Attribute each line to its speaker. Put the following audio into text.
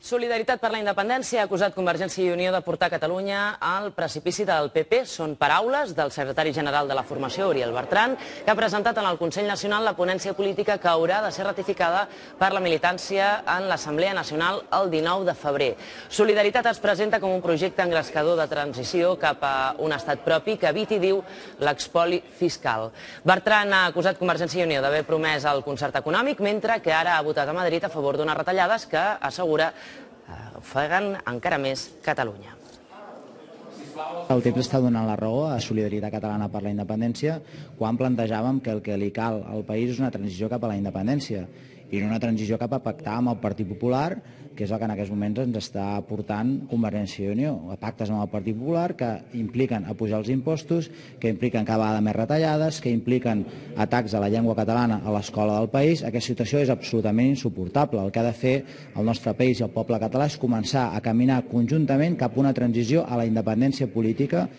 Speaker 1: Solidaritat per la Independència ha acusat Convergència i Unió de portar Catalunya al precipici del PP. Són paraules del secretari general de la formació, Uriel Bertran, que ha presentat en el Consell Nacional la ponència política que haurà de ser ratificada per la militància en l'Assemblea Nacional el 19 de febrer. Solidaritat es presenta com un projecte engrescador de transició cap a un estat propi que eviti, diu, l'expoli fiscal. Bertran ha acusat Convergència i Unió d'haver promès el concert econòmic, mentre que ara ha votat a Madrid a favor d'unes retallades que, assegura, ofeguen encara més Catalunya.
Speaker 2: El temps està donant la raó a Solidaritat Catalana per la Independència quan plantejàvem que el que li cal al país és una transició cap a la independència i no una transició cap a pactar amb el Partit Popular, que és el que en aquests moments ens està portant Convergència i Unió. Pactes amb el Partit Popular que impliquen apujar els impostos, que impliquen cada vegada més retallades, que impliquen atacs a la llengua catalana a l'escola del país. Aquesta situació és absolutament insuportable. El que ha de fer el nostre país i el poble català és començar a caminar conjuntament cap a una transició a la independència política.